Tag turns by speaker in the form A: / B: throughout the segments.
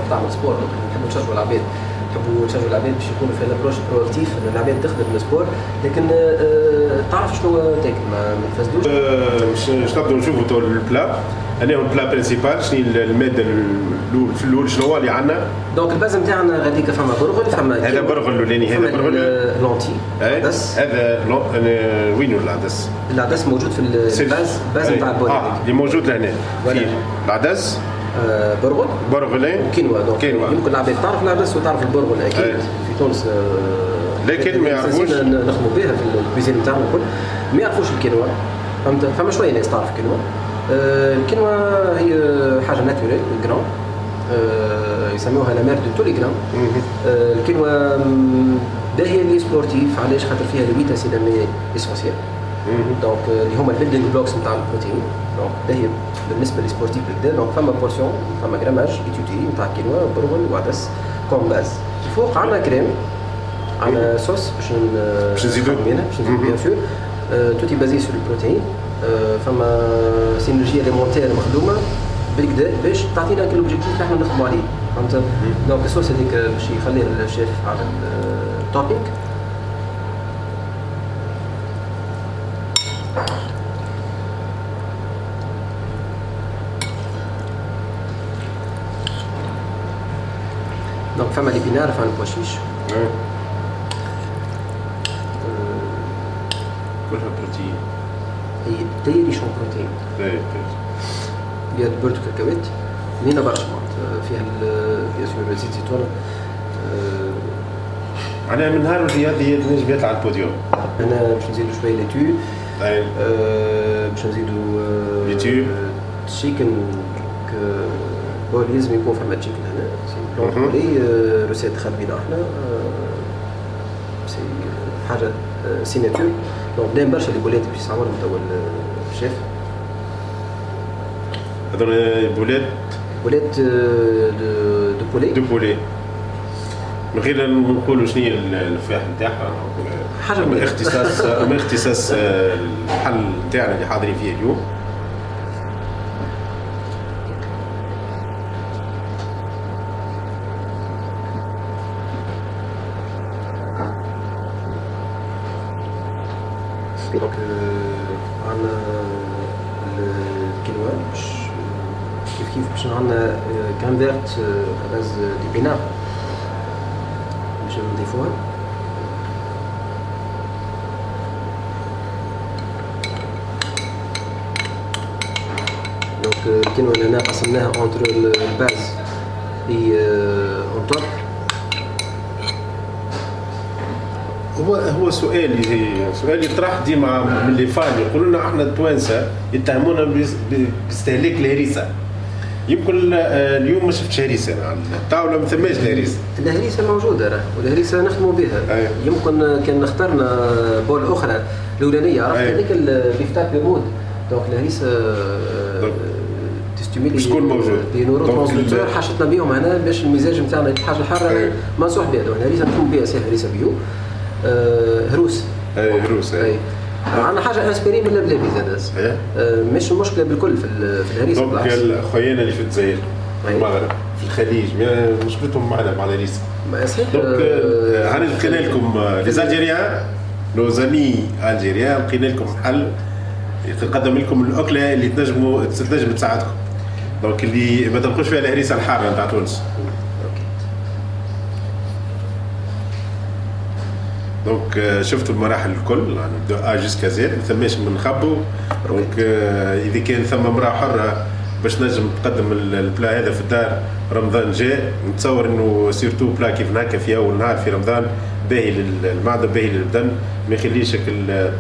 A: تعمل sport، donc نحبوا نشجعوا العباد، نحبوا نشجعوا العباد باش يكونوا في l'approche proactive، انه العباد تخدم ال sport لكن تعرف شنو تاكل، ما تفسدوش.
B: باش نبداو نشوفوا تو ال plat، انا هو ال plat principal، شنو المادة الاول في الاول شنو هو اللي عندنا؟
A: donc ال base نتاعنا غاديك فما برغل، فما
B: هذا برغل الاولاني، هذا برغل
A: lentilles، عدس.
B: هذا وين العدس؟
A: العدس موجود في ال base، ال base نتاع ال bol
B: اللي موجود لهنا. العدس
A: برغل
B: برغلين
A: وكينوا. donc يمكن العباد تعرف العدس وتعرف البرغل اكيد في تونس،
B: لكن ما يعرفوش
A: نخدموا بها في ال cuisine نتاعنا الكل، ما يعرفوش الكينوا، فهمت؟ فما شوية ناس تعرف الكينوا. الكينوا هي حاجة naturelle grain، يسموها la mère de tous les grains. الكينوا باهيه les sportifs، علاش؟ خاطر فيها les 8 acides aminés essentiels، donc اللي هما ال building blocks نتاع البروتين، donc باهيه بالنسبة les sportifs بالكدا. donc فما portion، فما grammage étudié نتاع كينوا برغل وعدس comme base. الفوق عندنا كريم، عندنا صوص باش
B: نزيدو
A: باش نزيدو bien sûr، tout est basé sur البروتين. فما synergie alimentaire مخدومة بالكدا باش تعطينا كل objectif اللي احنا نخدموا عليه، فهمت؟ donc ال sauce هذيك باش يخليها الشيف على ال topping. donc فما les épinards، فما ال pois chiches،
B: كلها بروتين،
A: هي très riche en protéines، فيها beurre de cacahuète بنينة برشا، معناتها فيها bien sûr زيت زيتون.
B: معناها من نهار الرياضي نجم يطلع على البوديوم.
A: هنا باش نزيدو شوية laitue، باش نزيدو
B: laitue
A: chicken bol، لازم يكون فما chicken هنا، c'est blanc poulet recette خادمينها احنا، c'est حاجة signature. donc بنين برشا les boulettes باش يستعملهم توا الشيف.
B: هذول boulettes
A: boulettes de poulet،
B: de poulet من غير نقولوا شنو هي الفاح نتاعها،
A: حاجة
B: من اختصاص من اختصاص الحل نتاعنا اللي حاضرين فيه اليوم.
A: donc عندنا الكينوا باش كيف كيف باش عندنا crème verte à base d'épinards باش نضيفوها. donc الكينوا هنا قسمناها entre ال base et en top.
B: هو سؤال يطرح ديما من les fans، يقولوا لنا احنا التوانسة يتهمونا باستهلاك الهريسه. يمكن اليوم ما شفتش هريسه على الطاولة، ما ثماش الهريسه.
A: الهريسه موجودة راه، والهريسه نخدموا بها. يمكن كان اخترنا bol اخرى الاولانية، عرفت هذيك ال beefsteak بيمود. donc الهريسه تستيميلي
B: باش تكون موجود
A: des neurotransmetteurs حاجتنا بهم هنا باش المزاج نتاعنا الحاجة الحارة منصوح بها. donc الهريسه نخدموا بها، c'est هريسه bio هروس.
B: اي هروس.
A: اي عندنا حاجة inspirée من اللبلابي زاد، مش المشكلة بالكل في الهريسه.
B: donc خويانا اللي في الجزائر، في المغرب، في الخليج، مشكلتهم معنا مع الهريسه.
A: صحيح.
B: donc هاني لقينا لكم les Algériens، nos amis algériens، لقينا لكم حل نقدم لكم الاكلة اللي تنجم تساعدكم. donc اللي ما تلقوش فيها الهريسه الحارة نتاع تونس. donc شفتوا المراحل الكل، يعني de A jusqu'à Z، ما ثماش من نخبو. donc اذا كان ثم امراة حره باش نجم تقدم ال plat هذا في الدار رمضان جاء، نتصور انه surtout plat كيف هكا في اول نهار في رمضان باهي للمعدة، باهي للبدن، ما يخليش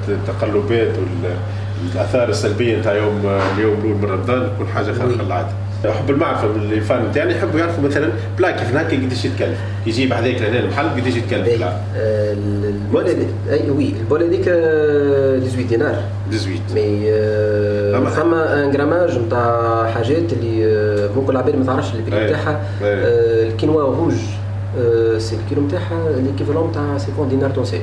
B: التقلبات والاثار السلبية نتاع اليوم الاول من رمضان تكون حاجة خارقة للعادة. حب المعرفة من les fans نتاعنا يحبوا يعرفوا مثلا plat كيف هكا قداش يتكلف، يجي بحذاك لهنا المحل قداش يتكلف plat.
A: ال bol اي oui ال bol هذيك 18 دينار.
B: 18
A: mais فما un grammage نتاع حاجات اللي ممكن العباد ما تعرفش ال prix نتاعها. ال quinoa rouge c'est الكيلو نتاعها l'équivalent نتاع 50 دينار تونسي.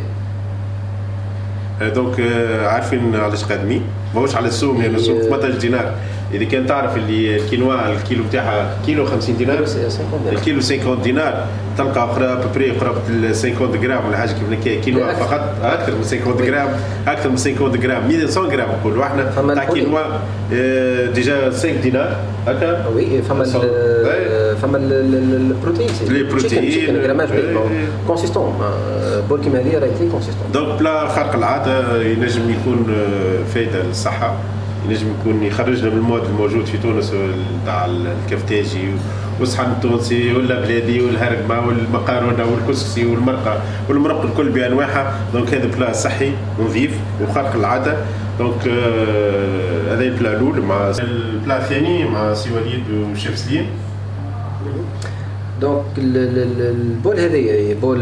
B: donc عارفين علاش قادمين، ماهوش على السوم، لان السوم 18 دينار. اذا كان تعرف اللي الكينوا الكيلو نتاعها كيلو 50 دينار، الكيلو 50 دينار، تلقى à peu près قرابة 50 غرام ولا حاجة كيف هكا كينوا فقط، اكثر من 50 غرام، اكثر من 50 غرام، 100 غرام نقولوا احنا تاع quinoa déjà 5 دينار هكا.
A: oui فما ال protéines،
B: les protéines
A: grammage consistant، bol كيما هذه راهي très consistant.
B: donc plat خارق العادة، ينجم يكون فايده للصحة، ينجم يكون يخرجنا من ال mode الموجود في تونس تاع الكفتاجي والصحن التونسي ولا بلادي والهرقمه والمقارونه والكسكسي والمرقه والمرق الكل بانواعها. donc هذا plat صحي ونظيف وخارق العادة. donc هذا ال plat الاول. مع ال plat الثاني مع سي وليد وشيف سليم.
A: donc ال bol هذايا bol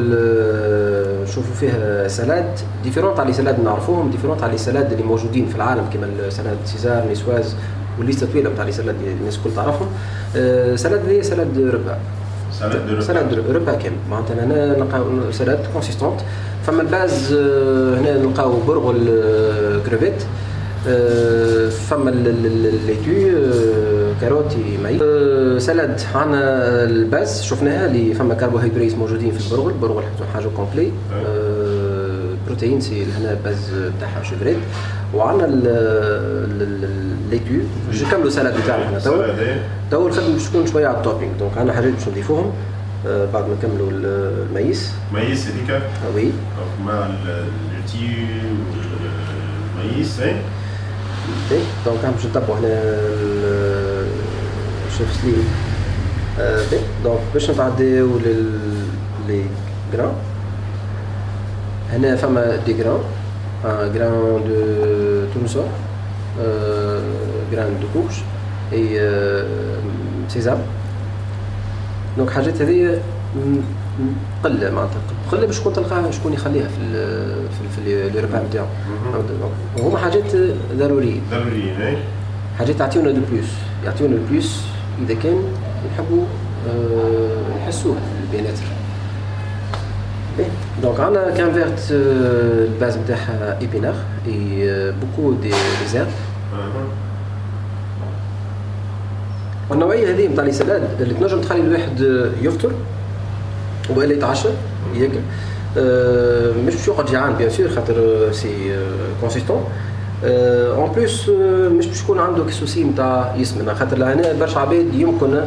A: نشوفوا فيه salade différente على les salades نعرفوهم، différente على les salades اللي موجودين في العالم كيما ال salade César، niçoise، وال liste طويلة نتاع les salades اللي الناس الكل تعرفهم. salade هذه salade repas، salade repas كامل، معناتها هنا نلقاو salade consistante. فما ال base هنا نلقاو برغل كروفيت، فما laitue carottes maïs. salade عندنا ال base شفناها اللي فما كربوهيدرات موجودين في البرغل، البرغل حاجة complète، protéines c'est هنا base تاعها chèvre. وعندنا laitue باش نكملوا salade تاعنا هنا تو الخدمة باش تكون شوية على ال topping. donc عندنا حاجات باش نضيفوهم بعد ما نكملوا ال maïs.
B: maïs هذيك
A: oui
B: مع ال laitue وال maïs.
A: اي donc باش نتبعوا هنا الشيف سليم. donc باش نتعداو les grains. هنا فما des grains، grain de tournesol، grain de courge et sésame. donc حاجات هذه قلة، معناتها قلة باش شكون تلقاها، شكون يخليها في les repas نتاعو. وهما حاجات ضروريين
B: ضروريين،
A: حاجات يعطيونا de plus، يعطيونا plus اذا كان نحبوا نحسوه ال bien-être. donc عندنا canne verte ال base نتاعها épinards et beaucoup des herbes. والنوعيه هذه نتاع les salades اللي تنجم تخلي الواحد يفطر والا يتعشى ياكل، مش باش يقعد جيعان bien sûr خاطر c'est consistant. en plus مش باش يكون عنده souci نتاع يسمن، خاطر لهنا برشا عباد يمكن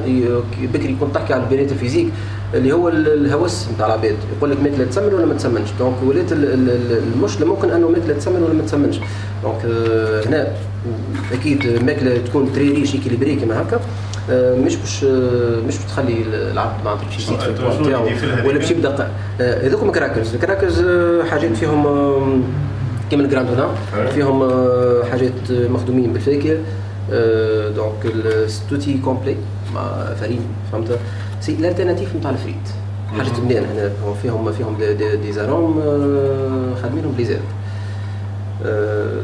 A: بكري كنت تحكي على ال bien-être physique اللي هو الهوس نتاع العباد، يقول لك ماكله تسمن ولا ما تسمنش. donc ولات المشكلة ممكن انه ماكله تسمن ولا ما تسمنش. donc هنا اكيد ماكله تكون très riche équilibrée كيما هكا، مش باش تخلي العبد معناتها باش يزيد في البوا نتاعو ولا باش يبدا. هذوكم crackers، ال crackers حاجات فيهم كيما ال Grandona، فيهم حاجات مخدومين بالفاكهه. donc tout est complet مع farine، فهمت؟ c'est l'alternative نتاع الفريت، حاجات بنان هنا فيهم des arômes خادمينهم ب les herbes.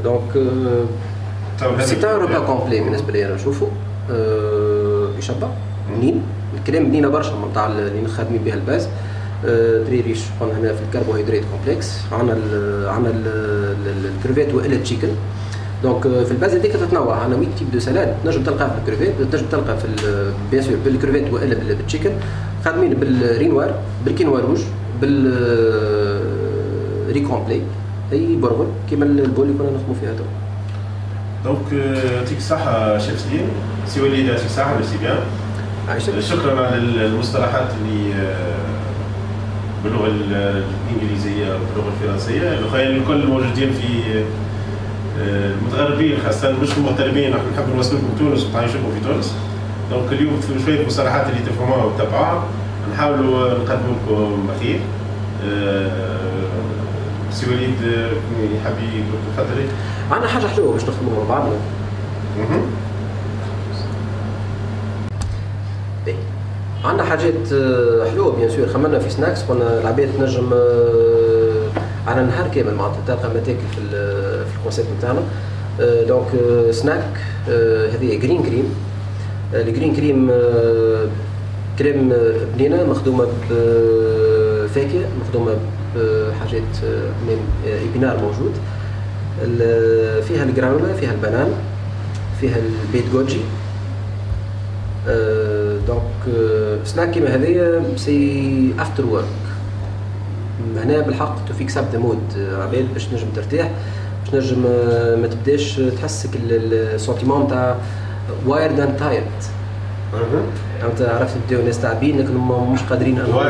A: donc c'est un repas complet بالنسبة لي انا نشوفو يشبع بنين، الكريم بنينه برشا نتاع اللي خادمين بها ال base. très riche قلنا هنا في الكربوهيدرات complexe. عندنا الكروفيت والا ال chicken. donc في ال base هذيك تتنوع، عندنا 8 types de salade تنجم تلقاها في الكروفيت، تنجم تلقى في bien sûr بال crevettes والا بال chicken. خادمين بال riz noir، بال quinoa rouge، بال riz complet اي برغل كيما ال bol اللي كنا نخدموا فيها تو.
B: donc يعطيك الصحة شيف سليم، سي وليد يعطيك الصحة، merci bien. شكرا على المصطلحات اللي باللغة الإنجليزية وباللغة الفرنسية، الأخوان الكل موجودين في المتغربين خاصة مش المغتربين، نحن نحب نوصل لكم تونس وتعيشوكم في تونس. donc اليوم في شوية مصطلحات اللي تفهموها وتتبعوها نحاولوا نقدموا لكم خير. سي وليد يحب يتفضل.
A: عندنا حاجة حلوة باش نخدموها مع بعضنا. عندنا حاجات حلوة bien sûr، خممنا في snacks، قلنا العباد تنجم على النهار كامل معناتها تلقى ما تاكل في ال concept نتاعنا. donc snack هذه green cream. ال green cream crème بنينه مخدومة بفاكهة، مخدومة بحاجات من épinards موجود، فيها الجرانولا، فيها ال banane. فيها ال baies de goji. donc snack كيما هذايا c'est after work، هنا بالحق to fix up the mood عباد باش تنجم ترتاح، باش تنجم ما تبداش تحسك ال sentiment تاع wired and tired. فهمت؟ عرفت تبداو الناس تعبين لكن مش قادرين
B: انهم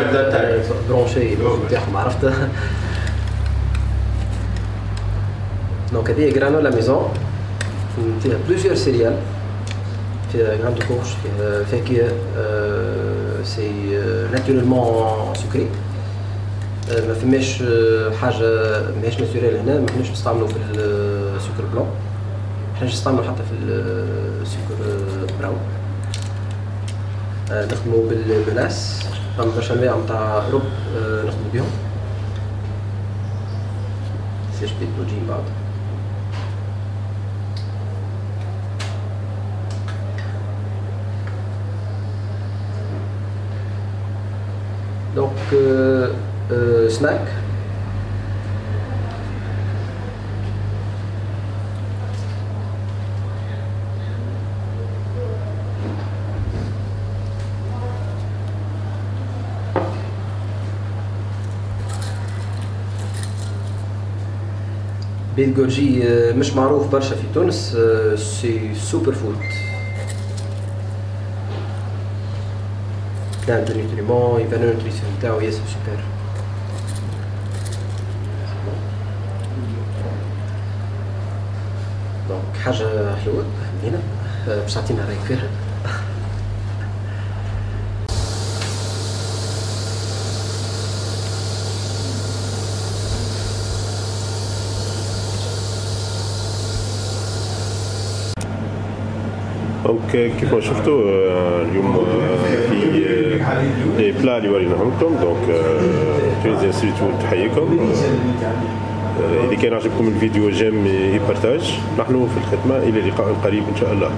A: brancher نتاعهم، عرفت؟ donc هذه granola maison فيها plusieurs céréales، فيها graines de courge، فيها فاكهة، c'est naturellement sucré، ما فماش حاجة ماهيش naturelle هنا، ما كناش نستعملو في السكر blanc، ما كناش نستعملو حتى في السكر brown. نخدمو بال mélasse، فما برشا انواع نتاع رب نخدمو بيهم. سيش baies de goji من بعد. donc snack baies de goji مش معروف برشا في تونس، c'est super food، plein de nutriments et valeur nutritionnelle نتاعو ياسر سوبر. donc حاجة حلوة هنا باش تعطينا رايك فيها.
B: donc كيف ما شفتوا اليوم في les plats اللي وريناهم لكم. donc Tunisian Street Food تحييكم. اذا كان عجبكم الفيديو j'aime et partage. نحن في الخدمة، الى لقاء قريب ان شاء الله.